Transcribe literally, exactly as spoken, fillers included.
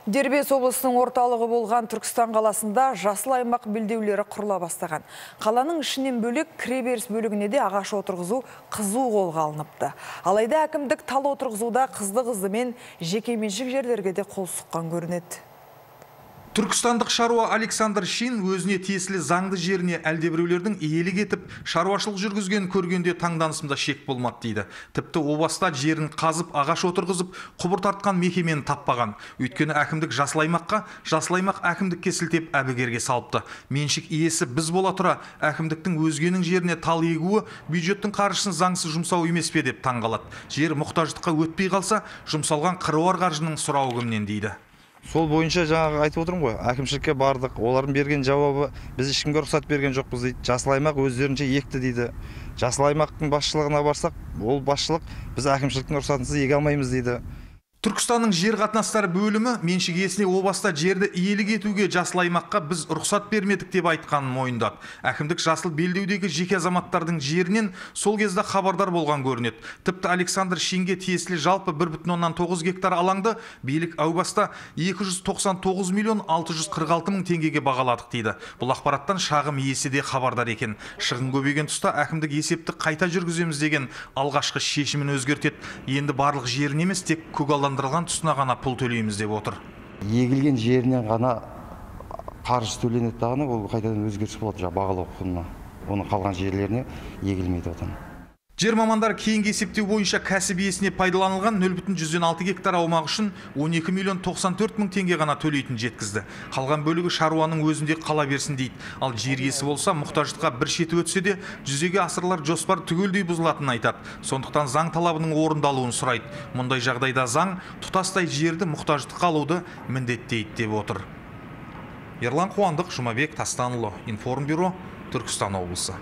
Дербес облысының орталығы болған Түркістан қаласында жасыл аймақ белдеулері құрыла бастаған. Қаланың ішінен бөлек кіреберіс бөлігіне де ағаш отырғызу қызу қолға алыныпты. Алайда әкімдік тал отырғызуда қызды-қызды мен жекеменшік жерлерге де қол сұққан көрінеді. Түркістандық шаруа Александр Шин өзіне тиесілі заңды жеріне әлдебіреулердің иелік етіп, шаруашылық жүргізген көргенде таңданысымда шек болмады дейді. Тіпті о баста жерін қазып, ағаш отырғызып, құбыр тартқан мекемені таппаған. Өйткені әкімдік жасыл аймаққа, жасыл аймақ әкімдікке сілтеп әбігерге салыпты. Меншік иесі біз бола тұра, әкімдіктің өзгенің жеріне тал егуі бюджеттің қаржысын заңсыз жұмсау емес пе деп таңғалады. Жер мұқтаждыққа өтпей қалса, жұмсалған қыруар қаржының сұрауы кімнен дейді. Сол бойынша жаңағы айтып отырмын ғой, әкімшілікке бардық, олардың берген жауабы біз ешкімге рұқсат берген жоқпыз дейді. Жасыл аймақ өздерінше екті дейді. Жасыл аймақтың басшылығына барсақ, ол басшылық біз әкімшіліктің рұқсатынсыз еге алмаймыз дейді. Түркістанның жер қатынастары бөлімі меншік иесіне о баста жерді иелік етуге жасыл аймаққа біз рұқсат бермедік деп айтқанын мойындады. Әкімдік жасыл белдеудегі жеке азаматтардың жерінен сол кезде хабардар болған көрінеді. Тіпті Александр Шинге тиесілі жалпы бір бүтін оннан тоғыз гектар алаңды билік әу баста екі жүз тоқсан тоғыз миллион алты жүз қырық алты мың теңгеге бағаладық дейді. Бұл ақпараттан шағым иесі де хабардар екен. Шығын көбейген тұста әкімдік есепті қайта жүргіземіз деген алғашқы шешімін өзгертеді. Енді барлық жерін емес, тек көгалдандырылған тұсына ғана пұл төлейміз деп отыр. Егілген жерінен ғана қаржы төленеді дағаны, ол қайтадан өзгеріс болады бағалау құнына. Оның қалған жерлеріне егілмейді одан. Жер мамандар кейінгі есептеу бойынша кәсіп иесіне пайдаланылған нөл бүтін жүзден алты гектар аумақ үшін он екі миллион тоқсан төрт мың теңге ғана төлейтін жеткізді. Қалған бөлігі шаруаның өзінде қала берсін дейді. Ал жер иесі болса, мұқтаждыққа бір шеті өтсе де, жүзеге асырылар жоспар түгелдей бұзылатынын айтады. Сондықтан заң талабының орындалуын сұрайды. Мұндай жағдайда заң тұтастай жерді мұқтаждыққа алуды міндеттейді деп отыр. Ерлан Қуандық, Жұмабек Тастанұлы, Информбюро, Түркістан облысы.